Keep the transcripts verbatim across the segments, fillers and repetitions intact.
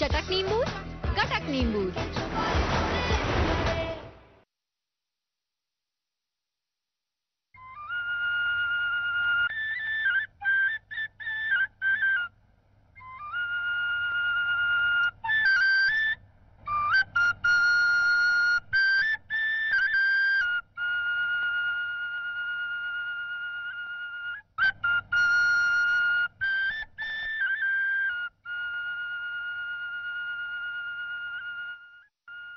چٹک نیمبو، کٹک نیمبو۔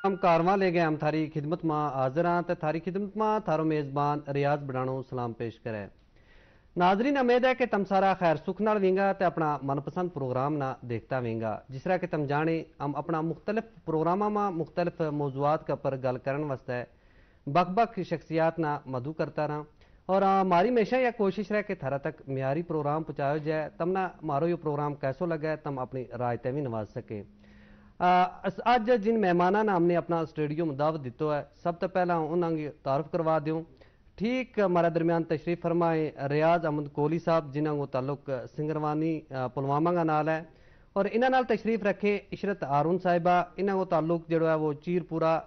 ہم کارواں لے گئے ہم تھاری خدمت ما حاضر ہاں تے تھاری خدمت ما تھارو میزبان ریاض بڑھانو سلام پیش کرے۔ ناظرین، امید ہے کہ تم سارا خیر سکھ نال وینگا تے اپنا من پسند پروگرام نا دیکھتا وینگا۔ جس طرح کہ تم جانے، ہم اپنا مختلف پروگراماں ما مختلف موضوعات کا پر گل کرن واسطے بک بک شخصیات نا مدعو کرتا رہا۔ اور ہماری ہمیشہ یا کوشش رہے کہ تھرا تک معیاری پروگرام پہنچایو جائے۔ تم نا مارو یوہ پروگرام کیسو لگا ہے، تم اپنی رائے تے وی نواز سکے۔ اج جن مہماناں نا ہم نے اپنا اسٹیڈیو ما دعوت دیتو ہے، سب تے پہلا انہاں کی تعارف کروا دیوں۔ ٹھیک ہمارا درمیان تشریف فرمائیں ریاض احمد کوہلی صاحب، جنہاں کو تعلق سنگروانی پلوامہ کا نال ہے۔ اور انہاں نال تشریف رکھیں عشرت ہارون صاحبہ، انہاں کو تعلق جیڑو ہے وہ چیر پورا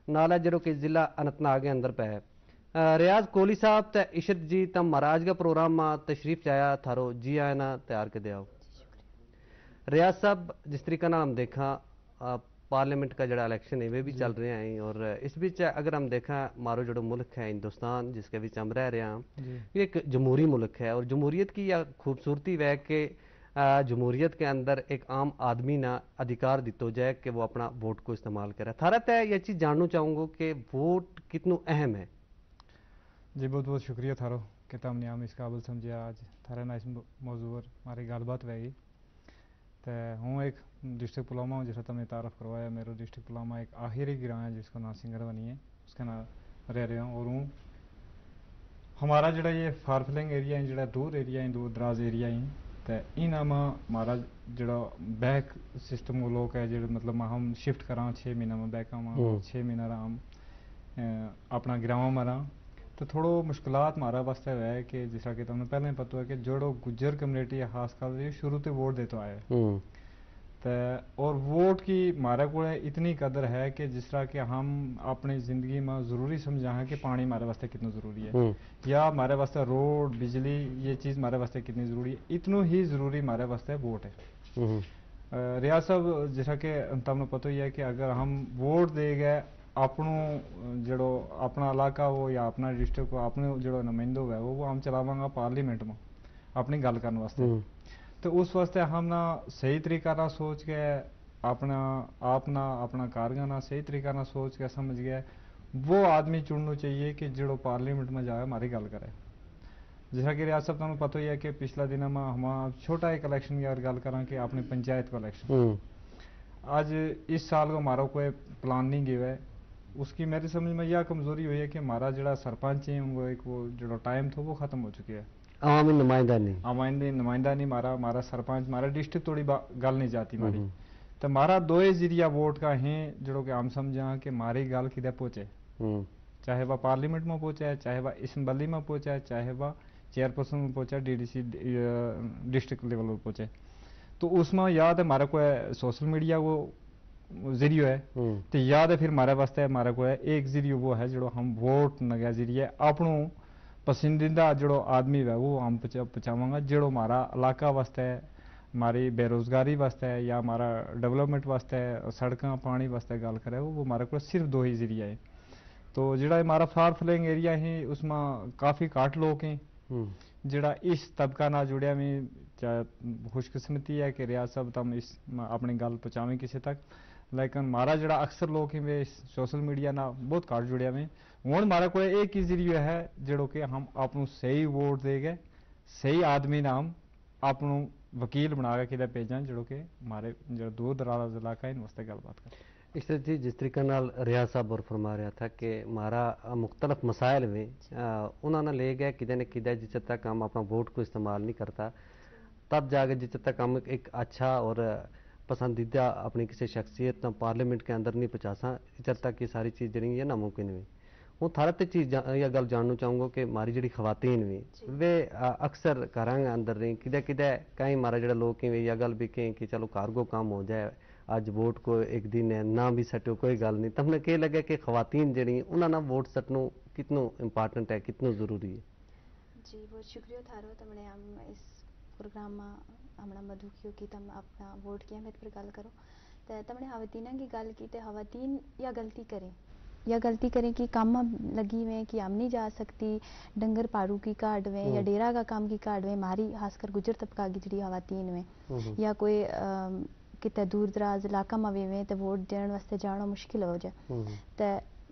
نال ہے، جیڑو کہ ضلع انتناگ کے اندر پہ ہے۔ ریاض کوہلی صاحب تے عشرت جی، تم مہاراج کا پروگرام ما تشریف چایا، تھارو جی آئے نا تیار کے دے آؤ۔ ریاض صاحب، جس طریقہ نال ہم دیکھاں، پارلیمنٹ کا جڑا الیکشن ہے وہ بھی چل رہے ہیں، اور اس بچ اگر ہم دیکھاں، مارو جڑو ملک ہے ہندوستان، جس کے بچ ہم رہ رہے ہیں، یہ ایک جمہوری ملک ہے، اور جمہوریت کی یہ خوبصورتی ہے کہ جمہوریت کے اندر ایک عام آدمی نا ادھیکار دیتو جائے کہ وہ اپنا ووٹ کو استعمال کرے۔ تھارا تے یہ چیز جاننو چاہوں گو کہ ووٹ کتنو اہم ہے؟ جی، بہت بہت شکریہ تھارو کہ تم نے ہم اس قابل سمجھیا۔ آج تھارے نا اس موضوع پر ہماری گل بات ہوئے گی۔ تے ہوں ایک ڈسٹرکٹ پلوامہ ہوں، جس طرح تم نے تعارف کروایا، میرو ڈسٹرکٹ پلوامہ ایک آخری گراں ہے جس کو نام سنگروانی ہے، اس کا نام رہ رہے ہوں۔ اور ہوں ہمارا جڑا یہ فار فلنگ ایریا ہیں، جڑا دور ایریا ہیں، دور دراز ایریا ہیں، تے انہاں ما ہمارا جڑا بیک سسٹم وہ لوگ ہے، جڑا مطلب ما ہم شفٹ کراں، چھ مہینہ ما بیک آواں، چھ مہینہ رہاں ہم اپنا گراواں ما رہاں۔ تو تھوڑو مشکلات مارا واسطے ہوئے کہ جس طرح کہ تمہیں پہلے ہی پتو ہے کہ جوڑو گجر کمیونٹی ہے، خاص کر یہ شروع تے ووٹ دیتو آئے۔ تے اور ووٹ کی مارے کو اتنی قدر ہے کہ جس طرح کہ ہم اپنی زندگی ما ضروری سمجھا ہیں کہ پانی مارے واسطے کتنا ضروری ہے، یا مارے واسطے روڈ، بجلی، یہ چیز مارے واسطے کتنی ضروری ہے، اتنو ہی ضروری مارے واسطے ووٹ ہے۔ ریاض صاحب، جس طرح کہ تمہیں پتو ہی ہے کہ اگر ہم ووٹ دے گئے اپنو جڑو اپنا علاقہ ہو یا اپنا ڈسٹرکٹ ہو، اپنو جڑو نمائندو ہوئے وہ ہم چلاواں گا پارلیمنٹ ما اپنی گل کرن واسطے۔ تو اس واسطے ہم نا صحیح طریقہ نا سوچ کے اپنا آپ نا اپنا کارگاں نا صحیح طریقہ نا سوچ کے سمجھ گیا، وہ آدمی چننو چاہیے کہ جڑو پارلیمنٹ ما جائے ہماری گل کرے۔ جس طرح کہ ریاست تمہیں پتو ہی ہے کہ پچھلا دن ہم ہمارا چھوٹا ایک الیکشن کی اگر گل کراں کہ اپنی پنچایت کو الیکشن، اج اس سال کو ہمارا کوئی پلان نہیں گیا ہے۔ اس کی میری سمجھ میں یہ کمزوری ہوئی ہے کہ ہمارا جڑا سرپنچ ہیں ان کو ایک وہ جڑا ٹائم تھو وہ ختم ہو چکے ہے۔ عوامی نمائندہ نہیں، عوامی نمائندہ نہیں ہمارا، ہمارا سرپنچ، ہمارا ڈسٹرکٹ توڑی گل نہیں جاتی ہماری۔ تو ہمارا دوئے ذریعہ ووٹ کا ہیں جڑو کہ ہم سمجھاں کہ ہماری گل کدے پہنچے، چاہے وہ پارلیمنٹ ما پہنچے، چاہے وہ اسمبلی ما پہنچے، چاہے وہ چیئرپرسن ما پہنچے، ڈی ڈی سی ڈسٹرکٹ لیول پر پہنچے۔ تو اس ما یاد ہے ہمارا کوئی سوشل میڈیا کو ذریعو ہے، تو یاد ہے پھر ہمارے واسطے ہمارا کوئی ایک ذریعو وہ ہے جڑو ہم ووٹ نگے ذریعے اپنو پسندیدہ جڑو آدمی ہوئے وہ ہم پہنچاواں گا، جڑو ہمارا علاقہ واسطے، ہماری بے روزگاری واسطے یا ہمارا ڈیولپمنٹ واسطے، سڑکاں پانی واسطے گل کرے، وہ ہمارے کو صرف دو ہی ذریعہ ہیں۔ تو جڑا ہمارا فار فلنگ ایریا ہیں اس ما کافی گھٹ لوگ ہیں۔ جڑا اس طبقہ نال جڑیا میں، خوش قسمتی ہے کہ ریاض صاحب تم اس اپنی گل پہنچاویں کسے تک، لیکن ہمارا جڑا اکثر لوگ ہیں وہ سوشل میڈیا نال بہت گھٹ جڑیا میں۔ ہن ہمارا کوئی ایک ہی ذریعہ ہے جڑو کہ ہم اپنو صحیح ووٹ دے گئے، صحیح آدمی نا ہم اپنو وکیل بنا کے کدے بھیجاں جڑو کہ ہمارے جڑا دور دراز علاقہ ہیں ان واسطے گل بات کریں۔ اس طرح جی، جس طریقہ نال ریاض صاحب اور فرما رہا تھا کہ ہمارا مختلف مسائل ہوئے، انہاں نا لے گئے کدے نہ کدے جس تک ہم اپنا ووٹ کو استعمال نہیں کرتا، تب جا کے جس تک ہم ایک اچھا اور پسندیدہ اپنی کسی شخصیت نا پارلیمنٹ کے اندر نہیں پہنچا ساں، اس تک یہ ساری چیز جڑی یہ ناممکن ہوئی۔ ہوں تھارا تے چیز یا گل جاننو چاہوں گا کہ ہماری جڑی خواتین ہوئی وہ اکثر گھراں کے اندر رہی، کدے کدے کہیں ہمارا جڑا لوگ کہیں یا گل بھی کہیں کہ چلو گھر کو کام ہو جائے، اج ووٹ کو ایک دن ہے نہ بھی سٹیو کوئی گل نہیں، تم نے کہہ لگا کہ خواتین جیڑی انہاں نا ووٹ سٹنو کتنو امپارٹنٹ ہے، کتنو ضروری ہے؟ جی، بہت شکریہ تھارو، تمنے ہم اس پروگرام ما ہمنا مدعو کیو کہ تم اپنا ووٹ کی اہمیت پر گل کرو۔ تے تمنے خواتین کی گل کی، تے خواتین یا غلطی کریں، یا غلطی کریں کہ کم لگی ہوئے کہ ہم نہیں جا سکتی، ڈنگر پاڑو کی کاڈ ہوئے یا ڈیرا کا کام کی کاڈ ہوئے، ہماری خاص کر گجر طبقہ کی جڑی خواتین ہوئے، یا کوئی کتے دور دراز علاقہ ما ویویں تے ووٹ دینن واسطے جانو مشکل ہو جائے۔ تے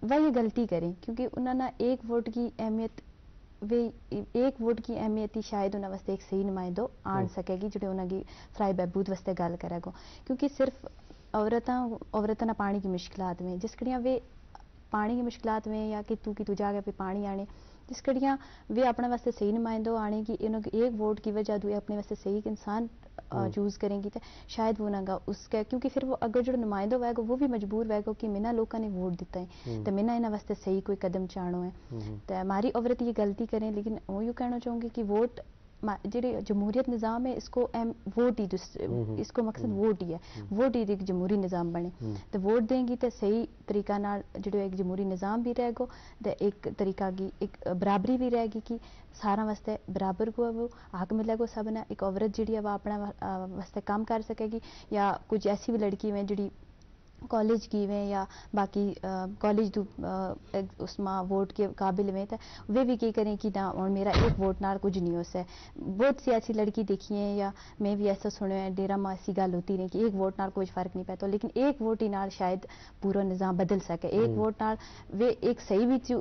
وہ یہ غلطی کریں، کیونکہ انہاں نا ایک ووٹ کی اہمیت، وی ایک ووٹ کی اہمیت ہی شاید انہاں واسطے ایک صحیح نمائندو آن سکے گی جڑے انہاں کی فرائی بہبود واسطے گل کرے گو۔ کیونکہ صرف عورتاں، عورتاں نا پانی کی مشکلات میں جس کڑیاں وی پانی کی مشکلات میں یا کہ تو کی تو جا کے پانی آنے، جس کڑیاں وی اپنے واسطے صحیح نمائندو آنے کی انہوں کی ایک ووٹ کی وجہ دوئے اپنے واسطے صحیح انسان چوز کریں گی تے شاید وہ نہ گا اس کے، کیونکہ پھر وہ اگر جو نمائندو ہوئے گا وہ بھی مجبور ہوئے گا کہ مینا لوکاں نے ووٹ دیتا ہے تے مینا انہاں واسطے صحیح کوئی قدم چاہنو ہے۔ تے ہماری عورت یہ غلطی کریں، لیکن وہ یوں کہنا چاہوں گی کہ ووٹ جیڑی جمہوریت نظام ہے، اس کو اہم ووٹ ہی اس کو مقصد ووٹ ہی ہے۔ ووٹ ہی ایک جمہوری نظام بنے تے ووٹ دیں گی تے صحیح طریقہ نال جیڑو ایک جمہوری نظام بھی رہ گو، تے ایک طریقہ کی ایک برابری بھی رہ گی کہ ساراں واسطے برابر کو وہ حق ملے گو۔ سب نا ایک عورت جیڑی ہے وہ اپنا واسطے کام کر سکے گی، یا کچھ ایسی بھی لڑکی ہوئے جیڑی کالج کی ویں یا باقی کالج دو اس ما ووٹ کے قابل ویں تے ویہ وی کے کریں کہ نہ ہن میرا ایک ووٹ نال کچھ نہیں ہو سکے۔ بہت سی ایسی لڑکی دیکھی ہیں یا میں وی ایسا سنیو ہے ڈیرا ما ایسی گل ہوتی رہی کہ ایک ووٹ نال کچھ فرق نہیں پیتا، لیکن ایک ووٹ ہی نال شاید پورا نظام بدل سکے۔ ایک ووٹ نال ویہ ایک صحیح وچ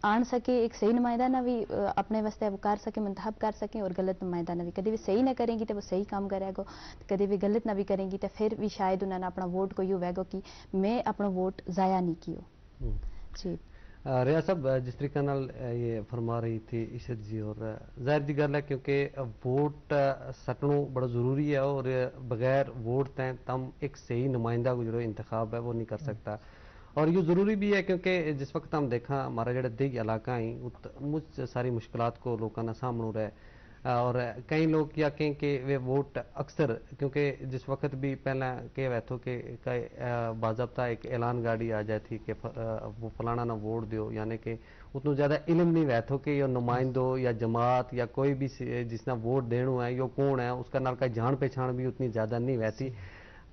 آن سکے، ایک صحیح نمائندہ نا وی اپنے واسطے وہ کر سکے، منتخب کر سکے، اور غلط نمائندہ نا وی کدی وی صحیح نہ کریں گی تے وہ صحیح کام کرے گو، کدی وی غلط نہ وی کریں گی تے پھر وی شاید انہاں نا اپنا ووٹ کو یوہ ویگو کہ میں اپنا ووٹ ضائع نہیں کیو۔ جی۔ ریاض صاحب، جس طریقہ نال یہ فرما رہی تھی عشرت جی، اور ظاہر جی گل ہے کیونکہ ووٹ سٹنو بڑا ضروری ہے، اور بغیر ووٹ تیں تم ایک صحیح نمائندہ کو جو انتخاب ہے وہ نہیں کر سکتا۔ اور یوہ ضروری بھی ہے کیونکہ جس وقت ہم دیکھاں ہمارا جیڑا دیہی علاقہ ہیں، ات مچ ساری مشکلات کو لوکاں نا سامنو رہے۔ اور کئی لوگ یا کہیں کہ ویہ ووٹ اکثر، کیونکہ جس وقت بھی پہلاں کہہ ویتھو کہ باضابطہ ایک اعلان گاڑی آ جائے تھی کہ وہ فلانا نا ووٹ دیو، یعنی کہ اتنو زیادہ علم نہیں ویتھو کہ یوہ نمائندو یا جماعت یا کوئی بھی جس نا ووٹ دینو ہے یوہ کون ہے، اس کا نال کا جان پہچان بھی اتنی زیادہ نہیں ویتھی۔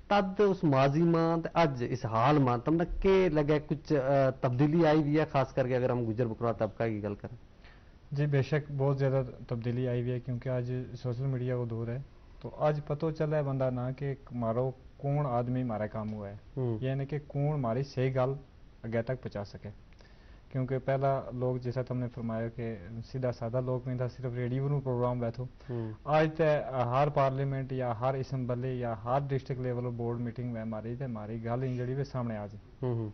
تد اس ماضی ما تے اج اس حال ما تم نا کے لگے کچھ تبدیلی آئی وی ہے، خاص کر کے اگر ہم گجر بکروا طبقہ کی گل کریں؟ جی بے شک بہت زیادہ تبدیلی آئی وی ہے، کیونکہ اج سوشل میڈیا کو دور ہے، تو اج پتو چلے بندہ نا کہ مارو کون آدمی مارے کام ہوا ہے، یعنی کہ کون ماری صحیح گل اگے تک پہنچا سکے۔ کیونکہ پہلا لوگ جیسا تم نے فرمایا کہ سیدھا سادہ لوگ میں تھا، صرف ریڈیو نو پروگرام ویتھو۔ اج تے ہر پارلیمنٹ یا ہر اسمبلی یا ہر ڈسٹرکٹ لیول بورڈ میٹنگ وے ماری تے ماری گل ہی جڑی وے سامنے آ جائے۔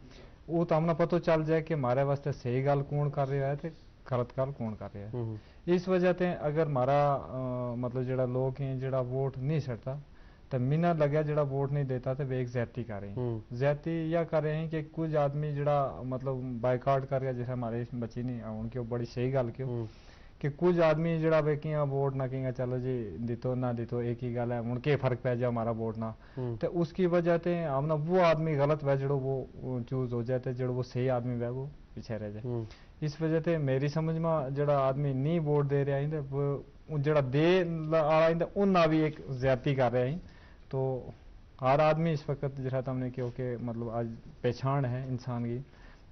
وہ تو ہم نا پتو چل جائے کہ مارے واسطے صحیح گل کون کر رہا ہے تے غلط گل کون کر رہا ہے۔ اس وجہ تے اگر مارا مطلب جڑا لوگ ہیں جڑا ووٹ نہیں سٹتا، تے مینا لگیا جڑا ووٹ نہیں دیتا تے ویک زیادتی کر رہے ہیں۔ زیادتی یا کر رہے ہیں کہ کچھ آدمی جڑا مطلب بائیکاٹ کر گیا، جیسے ہمارے بچی نے ہن کیو بڑی صحیح گل کیو کہ کچھ آدمی جڑا وے کیاں ووٹ نہ کیاں، چلو جی دیتو نہ دیتو ایک ہی گل ہے، ہن کے فرق پے جا ہمارا ووٹ نہ۔ تے اس کی وجہ تے ہم نا وہ آدمی غلط وے جڑو وہ چوز ہو جائے تے جڑو وہ صحیح آدمی وے وہ پیچھے رہ جائے۔ اس وجہ تے میری سمجھ ما جڑا آدمی نہیں ووٹ دے رہا ہی تے وہ جڑا دے آڑا ہی تے انہاں بھی ایک زیادتی کر رہا ہی۔ تو ہر آدمی اس وقت جس طرح تم نے کہو کہ مطلب اج پہچان ہے انسان کی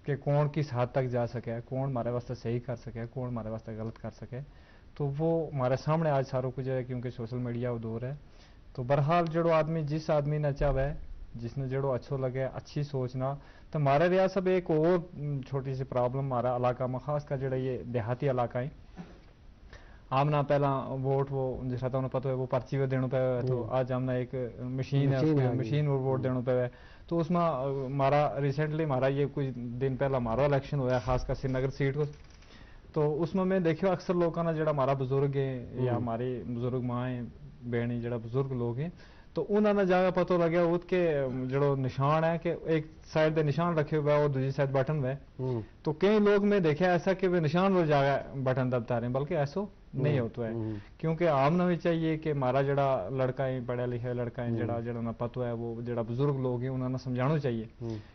کہ کون کس حد تک جا سکے، کون ہمارے واسطے صحیح کر سکے، کون ہمارے واسطے غلط کر سکے، تو وہ ہمارے سامنے آج سارو کچھ ہے کیونکہ سوشل میڈیا وہ دور ہے۔ تو بہرحال جڑو آدمی جس آدمی نا چاہوے، جس نے جڑو اچھو لگے، اچھی سوچ نا۔ تو ہمارے ریاض صاحب ایک اور چھوٹی سی پرابلم ہمارا علاقہ ما خاص کر جڑا یہ دیہاتی علاقہ ہیں، ہم نا پہلا ووٹ وہ جس طرح تمہیں پتہ ہے وہ پرچی وہ دینو پے، تو آج ہم نا ایک مشین ہے، مشین اور ووٹ دینو پے۔ تو اس ما ہمارا ریسنٹلی ہمارا یہ کچھ دن پہلا ہمارا الیکشن ہویا خاص کر سری نگر سیٹ کو۔ تو اس ما میں دیکھیو اکثر لوکاں نا جڑا ہمارا بزرگ ہیں یا ہماری بزرگ ماں ہیں، بہن ہیں، جڑا بزرگ لوگ ہیں، تو انہاں نا جاگا پتو لگیا ہوت کہ جڑو نشان ہے کہ ایک سائیڈ دے نشان رکھے ہوئے اور دوسری سائیڈ بٹن ہوئے۔ تو کئی لوگ میں دیکھیا ایسا کہ وہ نشان وہ جاگا بٹن دبتا رہے ہیں، بلکہ ایسو نہیں ہوتو ہے۔ کیونکہ ہم نا وی چاہیے کہ ہمارا جیڑا لڑکا ہیں، پڑھیا لکھیا لڑکا ہیں، جیڑا جیڑا نا پتو ہے، وہ جیڑا بزرگ لوگ ہیں، انہاں نا سمجھانو چاہیے۔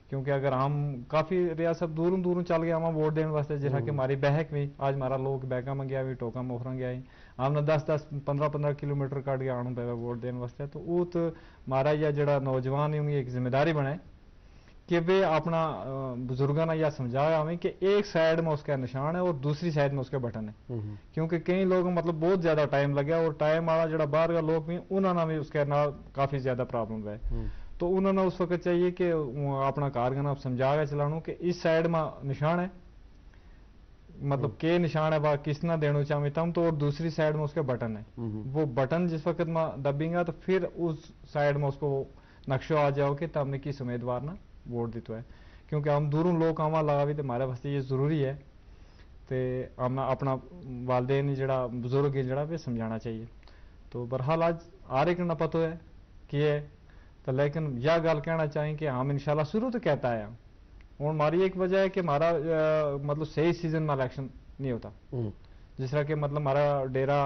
کیونکہ اگر ہم کافی ریاست دوروں دوروں چل گیا ہم ووٹ دین واسطے، جیسا کہ ہماری بہک وی آج ہمارا لوگ بہکاں ما گیا وی، ٹوکاں موخراں گیا ہیں، ہم نا دس دس پندرہ پندرہ کلومیٹر کڈ گیا آنو پے ووٹ دین واسطے، تو وہ تو ہمارا یا جیڑا نوجوان ہیں انہی ایک ذمہ داری بنے کہ ویہ اپنا بزرگاں نا یا سمجھایا ہوئیں کہ ایک سائیڈ ما اس کا نشان ہے اور دوسری سائیڈ ما اس کا بٹن ہے۔ کیونکہ کئی لوگ مطلب بہت زیادہ ٹائم لگیا اور ٹائم آلا جیڑا باہر کا لوگ وی انہاں نا وی اس کے نال کافی زیادہ پرابلم ہوئے۔ تو انہاں نا اس وقت چاہیے کہ اپنا کار گنا سمجھا کے چلانو کہ اس سائیڈ ما نشان ہے، مطلب کے نشان ہے با کس نا دینو چاہویں تم تو اور دوسری سائیڈ ما اس کے بٹن ہے۔ وہ بٹن جس وقت ما دبیں گا تو پھر اس سائیڈ ما اس کو نقشو آ جاؤ کہ تم نے کس امیدوار نا ووٹ دیتو ہے۔ کیونکہ ہم دوروں لوگ آواں لگاوی تے ہمارے واسطے یہ ضروری ہے۔ تے ہم اپنا والدین جیڑا بزرگ ہیں جیڑا وی سمجھانا چاہیے۔ تو بہرحال آج ہر ایک نا پتو ہے کہ ہے، تو لیکن یا گل کہنا چاہیں کہ ہم انشاءاللہ شروع تو کہتا ہے ہم ہن ہماری ایک وجہ ہے کہ ہمارا مطلب صحیح سیزن ما الیکشن نہیں ہوتا۔ جس طرح کہ مطلب ہمارا ڈیرا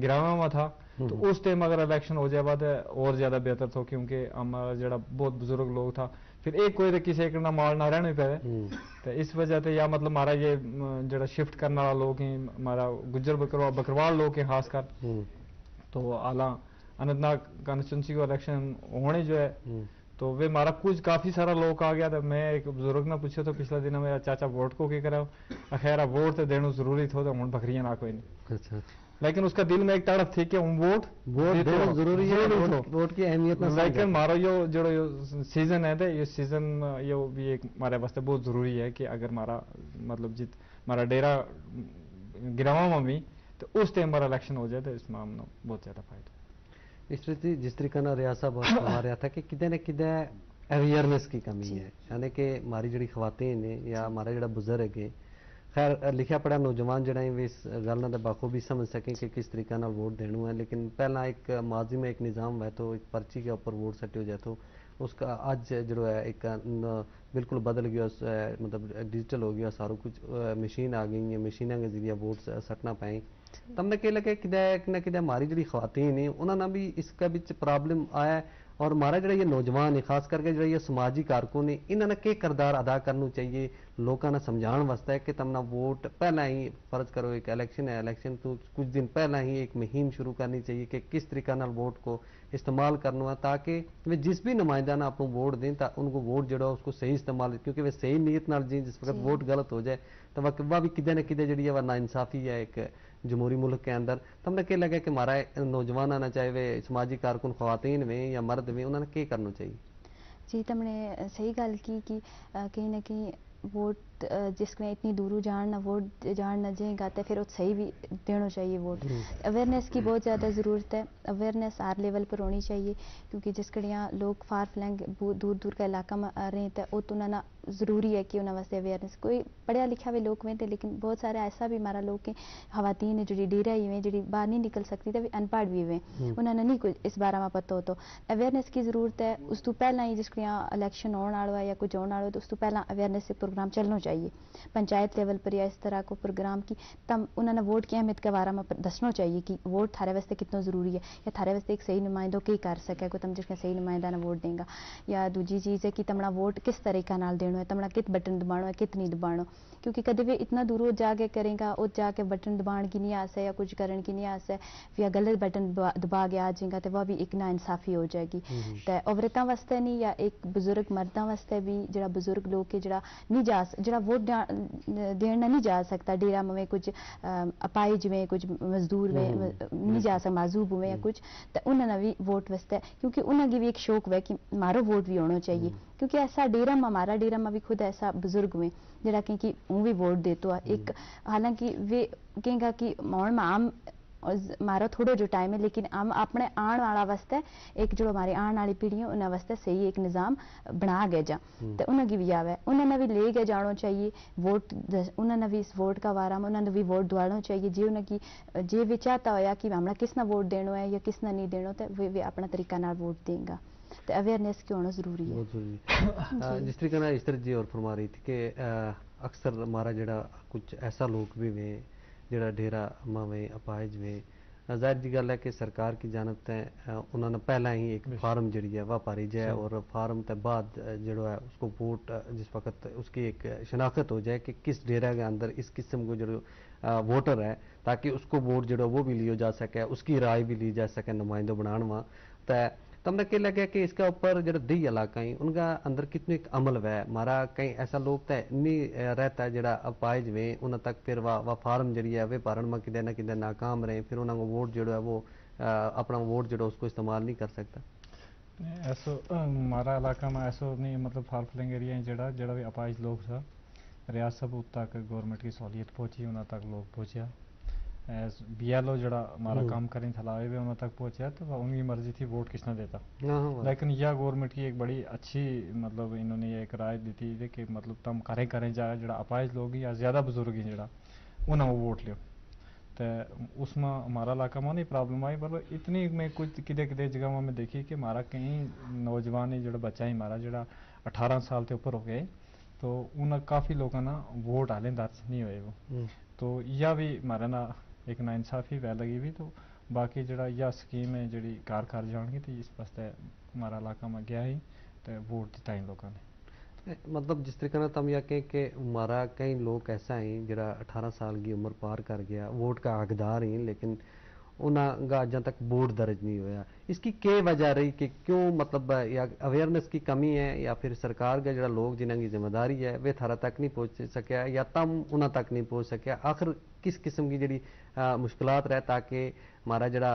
گراواں ما تھا، تو اس ٹائم اگر الیکشن ہو جائے با تو اور زیادہ بہتر تھو، کیونکہ ہمارا جیڑا بہت بزرگ لوگ تھا، پھر ایک کوئی تو کسے ایک نا مال نہ رہنے پے۔ تو اس وجہ تے یا مطلب ہمارا یہ جیڑا شفٹ کرنے والا لوگ ہیں، ہمارا گجر بکروال لوگ ہیں خاص کر، تو حالاں اننت ناگ کانسٹیچوئنسی کو الیکشن ہونے جو ہے، تو ویہ مارا کچھ کافی سارا لوگ آ گیا تھا۔ میں ایک بزرگ نا پوچھو تھو پچھلا دن میں، چاچا ووٹ کو کی کرا؟ اخیر ووٹ تے دینو ضروری تھو تو ہن بکریاں نہ کوئی نہیں۔ لیکن اس کا دل میں ایک تڑپ تھی کہ ہم ووٹ ووٹ دینو ضروری ہے، ووٹ کی اہمیت نہ سمجھا۔ لیکن مارا یو جیڑو یو سیزن ہے تے یہ سیزن یو بھی ایک مارے واسطے بہت ضروری ہے کہ اگر مارا مطلب جت مارا ڈیرا گراواں ما بھی تو اس ٹائم مارا الیکشن ہو جائے تو اس ما ہم نا بہت زیادہ فائدہ۔ اس طرح جس طریقہ نا ریاض صاحب ہمارے آتا کہ کدے نہ کدے اویئرنس کی کمی ہے، یعنی کہ ہماری جڑی خواتین ہیں یا ہمارا جڑا بزرگ ہے، خیر لکھیا پڑھیا نوجوان جڑا ہیں وہ اس گل نا بخوبی سمجھ سکیں کہ کس طریقہ نال ووٹ دینو ہے۔ لیکن پہلا ایک ماضی میں ایک نظام ہوئے تو ایک پرچی کے اوپر ووٹ سٹیو جائے تو اس کا اج جڑو ہے ایک بالکل بدل گیا، مطلب ڈیجیٹل ہو گیا سارو کچھ، مشین آ گئی ہیں، مشیناں کے ذریعہ ووٹ سٹنا پائیں۔ تم نا کہہ لگے کدے نہ کدے ہماری جڑی خواتین ہیں انہاں نا بھی اس کا بچ پرابلم آیا ہے؟ اور ہمارا جڑا یہ نوجوان ہیں خاص کر کے جڑا یہ سماجی کارکن ہیں انہاں نا کہہ کردار ادا کرنو چاہیے لوکاں نا سمجھان واسطے کہ تم نا ووٹ پہلا ہی فرض کرو ایک الیکشن ہے، الیکشن تو کچھ دن پہلا ہی ایک مہم شروع کرنی چاہیے کہ کس طریقہ نال ووٹ کو استعمال کرنو ہے تاکہ وہ جس بھی نمائندہ نا اپنو ووٹ دیں تاکہ ان کو ووٹ جڑا اس کو صحیح استعمال، کیونکہ وہ صحیح نیت نال جیں جس وقت ووٹ غلط ہو جائے تو وہ بھی کدے نہ کدے جڑی ہے وہ ناانصافی ہے ایک جمہوری ملک کے اندر۔ تم نا کہہ لگا کہ ہمارا نوجوان آنا چاہیے وہ سماجی کارکن خواتین ویں یا مرد ویں انہاں نا کہہ کرنو چاہیے؟ جی تم نے صحیح گل کی کہ کہیں نہ کہیں ووٹ جس کو اتنی دوروں جان نہ ووٹ جان نہ جیں گا تے پھر ات صحیح بھی دینو چاہیے ووٹ۔ اویئرنس کی بہت زیادہ ضرورت ہے۔ اویئرنس ہر لیول پر ہونی چاہیے، کیونکہ جس کڑیاں لوگ فار فلنگ دور دور کا علاقہ ما رہیں تے ات انہاں نا ضروری ہے کہ انہاں واسطے اویئرنس کوئی پڑھیا لکھیا وی لوگ ویندے لیکن بہت سارے ایسا بھی ہمارا لوگ ہیں، خواتین ہیں جڑی ڈیرہ ہی ویں جڑی باہر نہیں نکل سکتی تے وی ان پڑھ وی ویں۔ انہاں نا نہیں کچھ اس بارے ما پتو ہوتو۔ اویئرنس کی ضرورت ہے۔ اس تو پہلاں ہی جس کڑیاں الیکشن ہون آڑو ہے یا کچھ ہون آڑو ہے تو اس تو پہلاں اویئرنس پروگرام چلنو چاہیے۔ پنچایت لیول پر یا اس طرح کو پروگرام کی تم انہاں نا ووٹ کی اہمیت کے بارے ما دسنو چاہیے کہ ووٹ تھارے واسطے کتنو ضروری ہے یا تھارے واسطے ایک صحیح نمائندو کئی کر سکے کو تم جس کڑیاں صحیح نمائندہ نا ووٹ دیں گا۔ یا دوجی چیز ہے کہ تمنا ووٹ کس طریقہ نال دینو ہے تمنا کت بٹن دبانو ہے کت نہیں دبانو؟ کیونکہ کدے وی اتنا دوروں جا کے کریں گا ات جا کے بٹن دبان کی نہیں آسے یا کچھ کرن کی نہیں آسے، یا غلط بٹن دبا کے آ جیں گا تے وہ بھی ایک ناانصافی ہو جائے گی۔ تے عورتاں واسطے نہیں یا ایک بزرگ مرداں واسطے بھی جڑا بزرگ لوگ کے جڑا نہیں جا جڑا ووٹ دین نہ نہیں جا سکتا ڈیرا میں کچھ اپاہج میں کچھ مزدور میں نہیں جا سکتا معذوب ہوئے یا کچھ، تے انہاں نا بھی ووٹ واسطے کیونکہ انہاں کی بھی ایک شوق ہوئے کہ مارو ووٹ بھی ہونو چاہیے۔ کیونکہ ایسا ڈیرا ما ہمارا ڈیرا ما بھی خود ایسا بزرگ ہوئے جڑا کہیں کہ ہوں بھی ووٹ دیتو ہے ایک حالانکہ وی کہیں گا کہ ہون ما ہم مارا تھوڑو جو ٹائم ہے لیکن ہم اپنے آن والا واسطے ایک جو ہمارے آن والی پیڑھی ہیں انہاں واسطے صحیح ایک نظام بنا گئے جا۔ تے انہاں کی بھی آوے انہاں نا بھی لے گئے جانو چاہیے۔ ووٹ انہاں نا بھی اس ووٹ کا وارا انہاں نا بھی ووٹ دوانو چاہیے جی انہاں کی جی وی چاہتا ہویا کہ ہمنا کس نا ووٹ دینو ہے یا کس نا نہیں دینو تے وی اپنا طریقہ نال ووٹ دیں گا۔ تے اویئرنس کی ہونو ضروری ہے۔ جس طریقے نال عشتر جی اور فرما رہی تھی کہ اکثر ہمارا جڑا کچھ ایسا لوگ بھی ویں جیڑا ڈھیرا ماویں اپائج ویں، ظاہر جی گل ہے کہ سرکار کی جانب تے انہاں نا پہلاں ہی ایک فارم جیڑی ہے واہ پاری جائے اور فارم تے بعد جیڑو ہے اس کو ووٹ، جس وقت اس کی ایک شناخت ہو جائے کہ کس ڈھیرا کے اندر اس قسم کو جیڑو ووٹر ہے، تاکہ اس کو ووٹ جیڑو وہ بھی لیو جا سکے، اس کی رائے بھی لی جا سکے نمائندو بنان واں۔ تے تم نے کہہ لگا کہ اس کا اوپر جیڑا دیہی علاقہ ہیں ان کا اندر کتنی ایک عمل ہوئے؟ مارا کہیں ایسا لوگ تے نہیں رہتا جیڑا اپائج ویں انہاں تک پھر واہ فارم جیڑی ہے وہ پارن ما کدے نہ کدے ناکام رہیں پھر انہاں کو ووٹ جیڑو ہے وہ اپنا ووٹ جیڑو اس کو استعمال نہیں کر سکتا۔ ایسو مارا علاقہ ما ایسو نہیں مطلب فارفلنگ ایریا ہیں جیڑا جیڑا بھی اپائج لوگ تھا، ریاست تک گورنمنٹ کی سہولیت پہنچی انہاں تک لوگ پہنچیا۔ بی ایل او جیڑا ہمارا کام کریں تھا لاوے بھی انہاں تک پہنچیا تو ان کی مرضی تھی ووٹ کس نے دیتا۔ لیکن یا گورنمنٹ کی ایک بڑی اچھی مطلب انہوں نے ایک رائے دیتی تھی کہ مطلب تم کریں کریں جا جیڑا اپائج لوگ یا زیادہ بزرگ ہیں جیڑا انہاں کو ووٹ لیو۔ تے اس ما ہمارا علاقہ ما نہیں پرابلم آئی پر اتنی میں کچھ کدے کدے جگہ ما میں دیکھی کہ ہمارا کہیں نوجوان ہی جیڑا بچہ ہی ہمارا جیڑا اٹھارہ سال تے اوپر ہو گئے، تو انہاں کافی لوکاں نا ووٹ ہالیں درج نہیں ہوئے وہ۔ تو یا بھی ہمارے نا ایک ناانصافی ویل لگی بھی تو باقی جیڑا یا سکیم ہے جیڑی کار کر جان گی تو اس واسطے ہمارا علاقہ ما گیا ہی تے ووٹ دتا ہی لوکاں نے۔ مطلب جس طریقے نا تم یا کہیں کہ ہمارا کہیں لوک ایسا ہیں جیڑا اٹھارہ سال کی عمر پار کر گیا ووٹ کا حقدار ہیں لیکن انہاں کا اجاں تک بورڈ درج نہیں ہویا، اس کی کے وجہ رہی کہ کیوں مطلب یا اویئرنس کی کمی ہے یا پھر سرکار کا جیڑا لوگ جنہاں کی ذمہ داری ہے وہ تھارا تک نہیں پہنچ سکیا یا تم انہاں تک نہیں پہنچ سکیا؟ آخر کس قسم کی جیڑی مشکلات رہتا کہ ہمارا جیڑا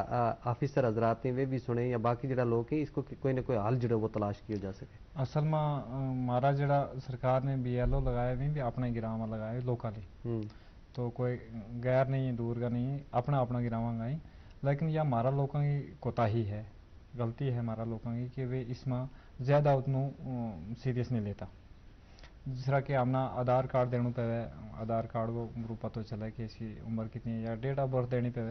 آفیسر حضرات ہیں وہ بھی سنیں یا باقی جیڑا لوگ ہیں اس کو کوئی نہ کوئی حل جیڑا وہ تلاش کیو جا سکے؟ اصل ما ہمارا جیڑا سرکار نے بی ایل او لگایا وی بھی اپنا گراں ما لگایا لوکاں نے، تو کوئی غیر نہیں ہے دور کا نہیں ہے، اپنا اپنا گراں ما گائیں۔ لیکن یا ہمارا لوکاں کی کوتاہی ہے، غلطی ہے ہمارا لوکاں کی کہ وہ اس ما زیادہ اتنو سیریس نہیں لیتا۔ جس طرح کہ ہم نا آدھار کارڈ دینو پے، آدھار کارڈ کو برو پتو چلے کہ اس کی عمر کتنی ہے یا ڈیٹ آف برتھ دینی پے،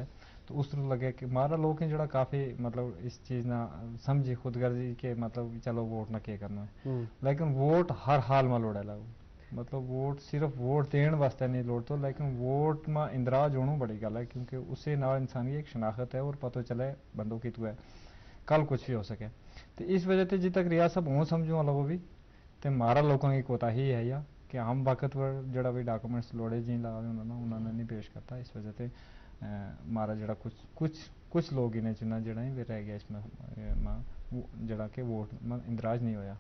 تو اس طرح لگے کہ ہمارا لوگ ہیں جیڑا کافی مطلب اس چیز نا سمجھی خود غرضی کہ مطلب چلو ووٹ نا کے کرنو ہے۔ لیکن ووٹ ہر حال ما لوڑے لگو، مطلب ووٹ صرف ووٹ دین واسطے نہیں لوڑتو لیکن ووٹ ما اندراج ہونو بڑی گل ہے کیونکہ اسے نال انسان کی ایک شناخت ہے اور پتو چلے بندو کتو ہے، کل کچھ بھی ہو سکے۔ تو اس وجہ تے جی تک ریاست ہوں سمجھوں لگو بھی تے مارا لوکاں کی کوتاہی ہے یا کہ ہم وقت پر جیڑا بھی ڈاکومنٹس لوڑے جی لاوے انہاں نے نہیں پیش کرتا، اس وجہ تے مارا جیڑا کچھ کچھ کچھ لوگ ہی نے چنا جیڑا ہی رہ گیا اس میں جیڑا کہ ووٹ اندراج نہیں ہویا۔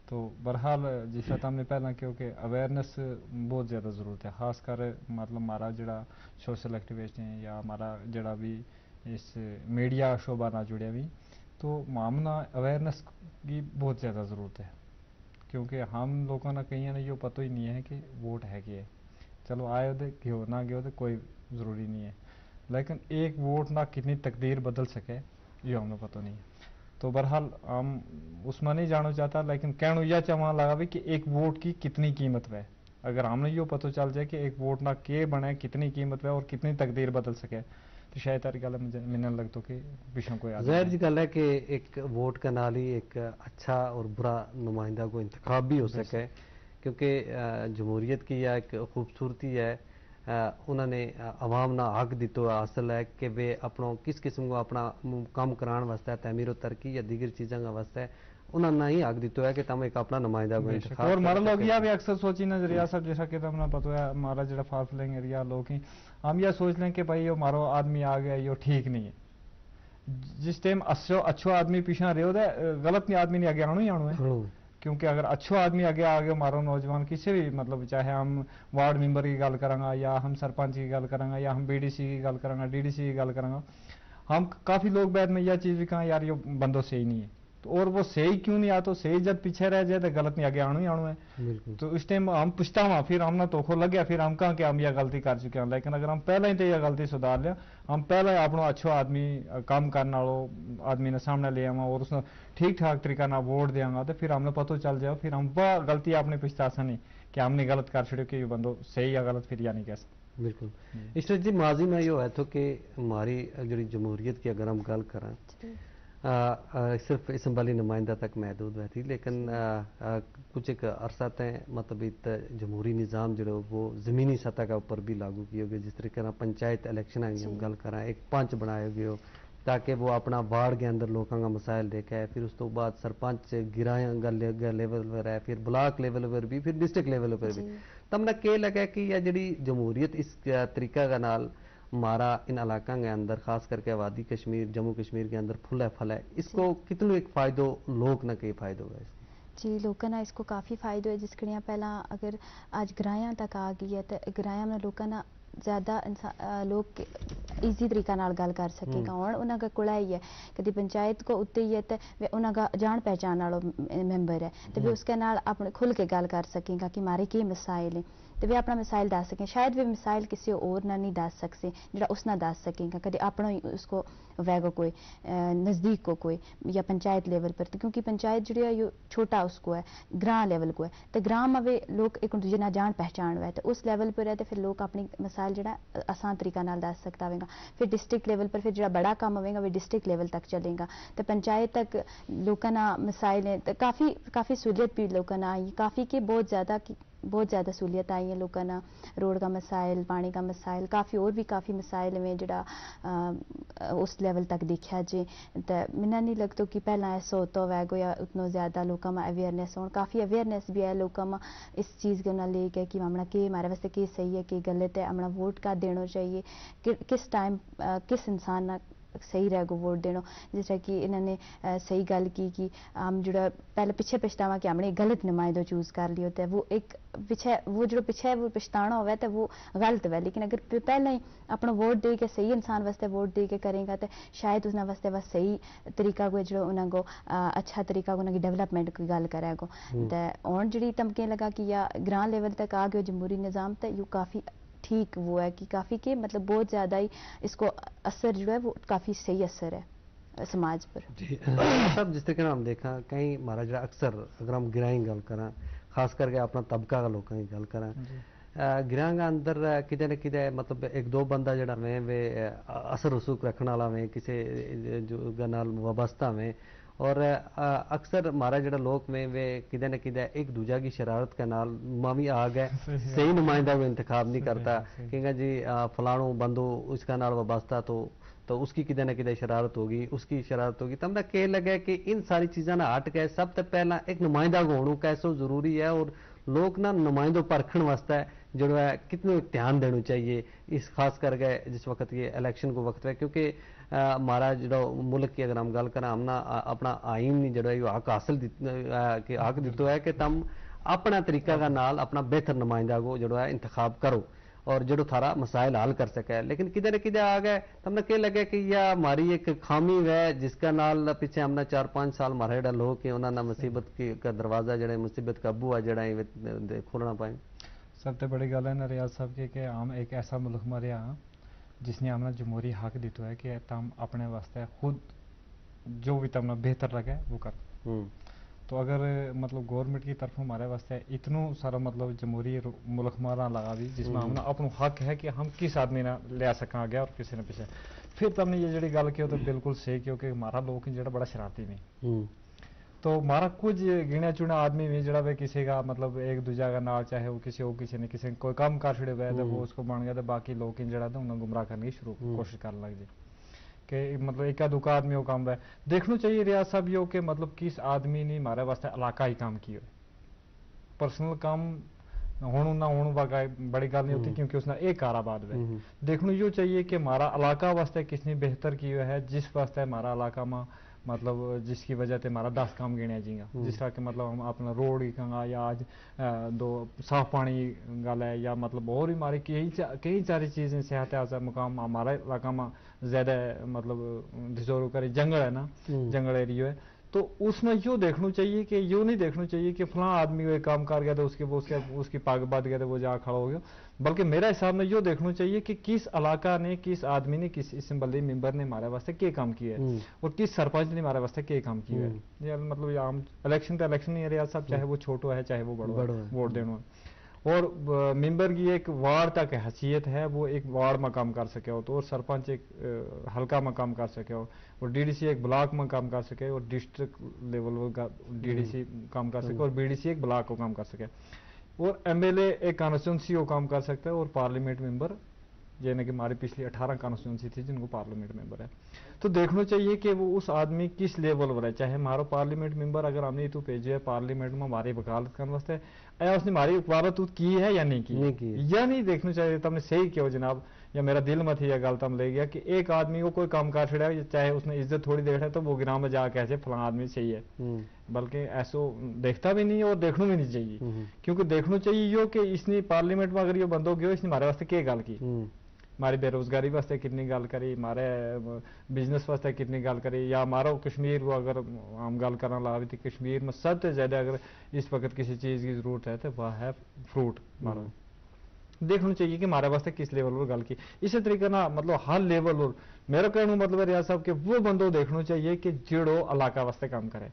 تو بہرحال جس طرح تم نے پہلاں کہیو کہ اویئرنس بہت زیادہ ضرورت ہے، خاص کر مطلب مارا جیڑا سوشل ایکٹیویسٹ ہیں یا مارا جیڑا بھی اس میڈیا شعبہ نا جڑیا بھی، تو مامنا اویئرنس کی بہت زیادہ ضرورت ہے۔ کیونکہ ہم لوکاں نا کہیاں نا یوہ پتو ہی نہیں ہے کہ ووٹ ہے کہ ہے۔ چلو آیو دے گیو نہ گیو دے کوئی ضروری نہیں ہے، لیکن ایک ووٹ نا کتنی تقدیر بدل سکے، یوہ ہم نا پتو نہیں ہے۔ تو بہرحال ہم اس ما نہیں جانو چاہتا لیکن کہنو یا چاہواں لگا بھی کہ ایک ووٹ کی کتنی قیمت وے۔ اگر ہم نا یوہ پتو چل جائے کہ ایک ووٹ نا کے بنے کتنی قیمت وے اور کتنی تقدیر بدل سکے، تو شاید تاری گل مجھے منن لگتو کہ پیشوں کوئی آدمی ظاہر جی گل ہے کہ ایک ووٹ کا نال ہی ایک اچھا اور برا نمائندہ کو انتخاب بھی ہو سکے۔ کیونکہ جمہوریت کی یا ایک خوبصورتی ہے، انہاں نے عوام نا حق دیتو ہے حاصل ہے کہ وہ اپنو کس قسم کو اپنا کم کران واسطے تعمیر و ترقی یا دیگر چیزاں کا واسطے انہاں نا ہی حق دیتو ہے کہ تم ایک اپنا نمائندہ کو انتخاب اور مارا لوگ یا بھی اکثر سوچی نظریا صاحب جیسا کہ تم نا پتو ہے ہمارا جیڑا فارفلنگ ایریا لوگ ہیں، ہم یا سوچ لیں کہ بھائی یوہ مارو آدمی آ گیا یوہ ٹھیک نہیں ہے۔ جس ٹائم اچھو آدمی پیشاں رہیو دے، غلط نہیں آدمی نہیں آگے آنو ہی آنو ہے۔ کیونکہ اگر اچھو آدمی آگے آگے مارو نوجوان کسے بھی مطلب چاہے ہم وارڈ ممبر کی گل کراں گا یا ہم سرپنچ کی گل کراں گا یا ہم بی ڈی سی کی گل کراں گا ڈی ڈی سی کی گل کراں گا، ہم کافی لوگ بیت میں یا چیز بھی کہاں یار یوہ بندو صحیح نہیں ہے۔ تو اور وہ صحیح کیوں نہیں آتو صحیح جد پیچھے رہ جائے تو غلط نہیں آگے آنو ہی آنو ہے۔ تو اس ٹائم ہم پچھتا ہوا پھر ہم نا توکھو لگیا پھر ہم کہاں کہ ہم یا غلطی کر چکے ہیں لیکن اگر ہم پہلا ہی تے یا غلطی سدھار لیا، ہم پہلا ہی اپنو اچھو آدمی کم کرن آلو آدمی نا سامنے لے آواں اور اس نا ٹھیک ٹھاک طریقہ نا ووٹ دیاں گا تو پھر ہم نا پتو چل جائے پھر ہم وہ غلطی اپنی پچھتا سا نہیں کہ ہم نے غلط کر چھڑیو کہ یوہ بندو صحیح یا غلط پھر یا نہیں کہہ سکتا۔ بالکل۔ عشرت جی ماضی ما یوہ ہے تھو کہ ہماری جیڑی جمہوریت کی اگر ہم گل کراں آ، آ، صرف اسمبلی نمائندہ تک محدود ہوئے تھی، لیکن آ، آ، کچھ ایک عرصہ تھے مطلب ات جمہوری نظام جڑو وہ زمینی سطح کا اوپر بھی لاگو کیو گیو، جس طریقے نا پنچایت الیکشن آئی ہم گل کراں، ایک پنچ بنایو گیو تاکہ وہ اپنا وارڈ کے اندر لوکاں کا مسائل دیکھے، پھر اس تو بعد سرپنچ گرایاں گل لیول پر ہے، پھر بلاک لیول پر بھی، پھر ڈسٹرکٹ لیول پر بھی۔ تم نا کہہ لگا کہ یا جڑی جمہوریت اس طریقہ کا نال مارا ان علاقاں کے اندر خاص کر کے آبادی کشمیر جموں کشمیر کے اندر پھلا پھلا ہے، اس کو کتنو ایک فائدو؟ لوک نا کئی فائدو ہے اس کو؟ جی، لوکاں نا اس کو کافی فائدو ہے۔ جس کڑیاں پہلاں اگر آج گرایاں تک آ گئی ہے تو گرایاں میں لوکاں نا زیادہ لوک ایزی طریقہ نال گل کر سکیں گا۔ ہن انہاں کا کڑا ہی ہے، کدی پنچایت کو اتے ہی ہے تو انہاں کا جان پہچان والو ممبر ہے، تو بھی اس کے نال اپنے کھل کے گل کر سکیں گا کہ مارے کے مسائل ہیں۔ تے ویہ اپنا مسائل دس سکیں، شاید ویہ مسائل کسے اور نا نہیں دس سکسیں جیہڑا اس نا دس سکیں گا، کدے اپنو ہی اس کو ویگو کوئی نزدیک کو کوئی یا پنچایت لیول پر، کیونکہ پنچایت جیہڑی ہے یوہ چھوٹا اس کو ہے، گراں لیول کو ہے، تے گراں ما ویہ لوک ایک دوجے نا جان پہچان ہوئے تے اس لیول پر ہے تے فیر لوک اپنی مسائل جیہڑا آسان طریقہ نال دس سکتا ہوئے گا۔ فیر ڈسٹرکٹ لیول پر فیر جیہڑا بڑا کم ہوئے گا ویہ ڈسٹرکٹ لیول تک چلیں گا، تے پنچایت تک لوکاں نا مسائل ہیں تے کافی کافی سہولیت بھی لوکاں نا آئی، کافی کہ بہت زیادہ بہت زیادہ سہولیت آئی ہیں لوکاں نا۔ روڈ کا مسائل، پانی کا مسائل، کافی اور بھی کافی مسائل ہوئے جیہڑا اس لیول تک دیکھیا جے۔ تے منا نہیں لگتو کہ پہلاں ایسا ہوتا ہوئے گو یا اتنو زیادہ لوکاں ما اویئرنیس ہون، کافی اویئرنیس بھی ہے لوکاں ما اس چیز کے انہاں لے کے کہ ہمنا کے ہمارے واسطے کے صحیح ہے، کے غلط ہے، ہمنا ووٹ کا دینو چاہیے، کس ٹائم کس انسان نا صحیح رہ گو ووٹ دینو۔ جس طرح کہ انہاں نے صحیح گل کی کہ ہم جیہڑا پہلے پچھے پچھتاواں کہ ہم نے غلط نمائندو چوز کر لیو تے وہ ایک پچھے وہ جیہڑا پچھے وہ پچھتانا ہووے تے وہ غلط ہووے، لیکن اگر پہلے ہی اپنا ووٹ دے کے صحیح انسان واسطے ووٹ دے کے کریں گا تے شاید اس نا واسطے بس صحیح طریقہ کو جیہڑا انہاں کو اچھا طریقہ کو انہاں کی ڈیولپمنٹ کی گل کرے گو۔ تے ہن جیہڑی تمکیں لگا کہ یا گراں لیول تک آ گیو جمہوری نظام تے یوہ کافی ٹھیک وہ ہے کہ کافی کے مطلب بہت زیادہ ہی اس کو اثر جیہڑا ہے وہ کافی صحیح اثر ہے سماج پر۔ جی صاحب، جس طرح کہ ہم دیکھاں کہیں ہمارا جیہڑا اکثر اگر ہم گرائیں گل کراں، خاص کر کے اپنا طبقہ کا لوکاں کی گل کراں، گراں کا اندر کدے نہ کدے مطلب ایک دو بندہ جیہڑا ویں وے اثر رسوخ رکھن والا ویں کسے جو نال وابستہ ویں، اور اکثر ہمارا جیہڑا لوک ویں وے کدے نہ کدے ایک دوجہ کی شرارت کے نال مامی آ گئے، صحیح نمائندہ کو انتخاب نہیں کرتا۔ کہنگا جی فلانو بندو اس کا نال وابستہ تو تو اس کی کدے نہ کدے شرارت ہوگی، اس کی شرارت ہوگی۔ تم نا کہہ لگے کہ ان ساری چیزاں نا ہٹ کے سب تے پہلاں ایک نمائندہ کو ہونو کیسو ضروری ہے اور لوک نا نمائندوں پرکھن واسطے جیہڑو ہے کتنو ایک دھیان دینو چاہیے؟ اس خاص کر کے جس وقت یہ الیکشن کو وقت ہے، کیونکہ ہمارا جیہڑو ملک کی اگر ہم گل کراں ہم نا اپنا آئین نے جیہڑو ہے یوہ حق حاصل حق دتو ہے کہ تم اپنا طریقہ کا نال اپنا بہتر نمائندہ کو جیہڑو ہے انتخاب کرو اور جیہڑو تھارا مسائل حل کر سکے، لیکن کدے نہ کدے آ گئے تم نا کہہ لگے کہ یا ہماری ایک خامی ہوئے جس کا نال پچھے ہم نا چار پانچ سال ہمارا جیہڑا لوک ہیں انہاں نا مصیبت کا دروازہ جیہڑا ہے مصیبت کا بوا جیہڑا ہے کھولنا پائیں۔ سب تے بڑی گل ہے نا ریاض صاحب کہ ہم ایک ایسا ملک ما رہیا ہاں جس نے ہم نا جمہوری حق دتو ہے کہ تم اپنے واسطے خود جو بھی تم نا بہتر لگے وہ کر۔ تو اگر مطلب گورنمنٹ کی طرفوں ہمارے واسطے اتنو سارا مطلب جمہوری ملک مارا لگا دی جس ما ہم نا اپنو حق ہے کہ ہم کس آدمی نا لیا سکاں آگے اور کسے نا پچھے۔ پھر تم نے یہ جیہڑی گل کہو تو بالکل صحیح کہو کہ ہمارا لوک جیہڑا بڑا شرارتی میں تو مارا کچھ گنیا چنیا آدمی وی جیہڑا وی کسے کا مطلب ایک دوجہ کا نال چاہے وہ کسے ہو کسے نے کسے کوئی کم کر چھڑے ہوئے تو وہ اس کو بن گیا تو باقی لوک ہیں جیہڑا تو انہاں گمراہ کرنے کی شروع کوشش کرن لگ جی کہ مطلب ایک دکا آدمی وہ کم ہوئے۔ دیکھنو چاہیے ریاض صاحب یوہ کہ مطلب کس آدمی نے مارے واسطے علاقہ ہی کم کیو ہے۔ پرسنل کم ہونو نہ ہونو واقعی بڑی گل نہیں ہوتی کیونکہ اس نا ایک کار آباد ہوئے۔ دیکھنو یوہ چاہیے کہ مارا علاقہ واسطے کس نے بہتر کیو ہے جس واسطے مارا علاقہ ما مطلب جس کی وجہ تے ہمارا دس کام گنیا جی گا جس طرح کہ مطلب ہم اپنا روڈ ہی کہاں گا یا آج دو صاف پانی گل ہے یا مطلب اور ہی ہمارے کئی ساری چیزیں صحت ہے مقام ہمارا علاقہ ما زیادہ مطلب دھزورو کرے جنگل ہے نا، جنگل ایریو ہے۔ تو اس نا یوہ دیکھنو چاہیے کہ یوہ نہیں دیکھنو چاہیے کہ فلاں آدمی وہ ایک کام کر گیا تو اس کی پگ بد گیا تو وہ جا کھڑا ہو گیا۔ بلکہ میرا حساب نا یوہ دیکھنو چاہیے کہ کس علاقہ نے کس آدمی نے کس اسمبلی ممبر نے ہمارے واسطے کے کام کیو ہے اور کس سرپنچ نے ہمارے واسطے کے کام کیو ہے۔ یا مطلب عام الیکشن تو الیکشن نہیں ہے ریاض صاحب چاہے وہ چھوٹو ہے چاہے وہ بڑو ہے۔ ووٹ دینو ہے۔ اور ممبر کی ایک وارڈ تک حیثیت ہے، وہ ایک وارڈ ما کم کر سکے ہو تو اور سرپنچ ایک حلقہ ما کم کر سکے ہو، اور ڈی ڈی سی ایک بلاک ما کم کر سکے اور ڈسٹرکٹ لیول کا ڈی ڈی سی کم کر سکے اور بی ڈی سی ایک بلاک کو کم کر سکے، اور ایم ایل اے ایک کانسٹیچوئنسی کو کم کر سکتا ہے اور پارلیمنٹ ممبر، یعنی کہ ہماری پچھلی اٹھارہ کانسٹیچوئنسی تھی جن کو پارلیمنٹ ممبر ہے۔ تو دیکھنو چاہیے کہ وہ اس آدمی کس لیول پر ہے، چاہے ہمارو پارلیمنٹ ممبر اگر ہم نے تو بھیجو ہے پارلیمنٹ ما ہماری وکالت کرن واسطے، اے اس نے ہماری وکالت کی ہے یا نہیں کی؟ یا نہیں؟ دیکھنو چاہیے، تم نے صحیح کہیو جناب، یا میرا دل ما تھی یا گل تم لے گیا کہ ایک آدمی کو کوئی کام کر چھڑیا، چاہے اس نے عزت تھوڑی دیکھ رہا ہے تو وہ گراں ما جا کہہ جائے فلاں آدمی صحیح ہے۔ بلکہ ایسو دیکھتا بھی نہیں اور دیکھنو بھی نہیں چاہیے۔ کیونکہ دیکھنو چاہیے یو کہ اس نے پارلیمنٹ ما اگر یو بندو گیو اس نے ہمارے واسطے کیا گل کی؟ ہماری بے روزگاری واسطے کتنی گل کری، ہمارے بزنس واسطے کتنی گل کری، یا ہمارو کشمیر کو اگر ہم گل کرنا لا بھی تھی کشمیر ما سب تے زیادہ اگر اس وقت کسی چیز کی ضرورت ہے تو وہ ہے فروٹ ہمارو۔ دیکھنو چاہیے کہ ہمارے واسطے کس لیول پر گل کی۔ اسی طریقے نا مطلب ہر لیول پر میرا کہنو مطلب ہے ریاض صاحب کہ وہ بندو دیکھنو چاہیے کہ جیڑو علاقہ واسطے کام کرے۔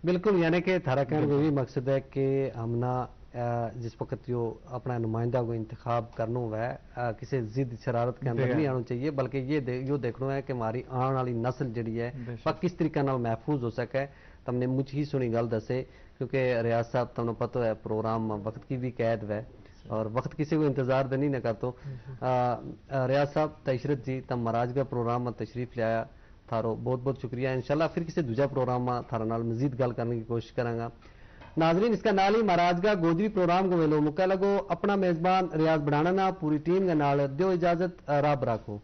بالکل، یعنی کہ تھارا کہن کو یہ مقصد ہے کہ ہم نا جس وقت یو اپنا نمائندہ کو انتخاب کرنو ہووے، کسے ضد شرارت کے اندر نہیں آنو چاہیے، بلکہ یو دیکھنو ہے کہ ہماری آن والی نسل جیڑی ہے وہ کس طریقہ نال محفوظ ہو سکے۔ تم نے مچ ہی سنی گل دسے، کیونکہ ریاض صاحب تم نے پتو ہے پروگرام وقت کی بھی قید وے، اور وقت کسے کو انتظار دے نہیں نہ کرتو۔ ریاض صاحب، تشرت جی تم مراج کا پروگرام ما تشریف لے آیا، تھارو بہت بہت شکریہ۔ انشاءاللہ پھر کسے دوجا پروگرام ما تھارا نال مزید گل کرنے کی کوشش کراں گا۔ ناظرین، اس کا نال ہی مہاراج کا گوجری پروگرام کو ویلو مکا لگو۔ اپنا میزبان ریاض بڑھانا نا پوری ٹیم کے نال دیو اجازت، رب راکھو۔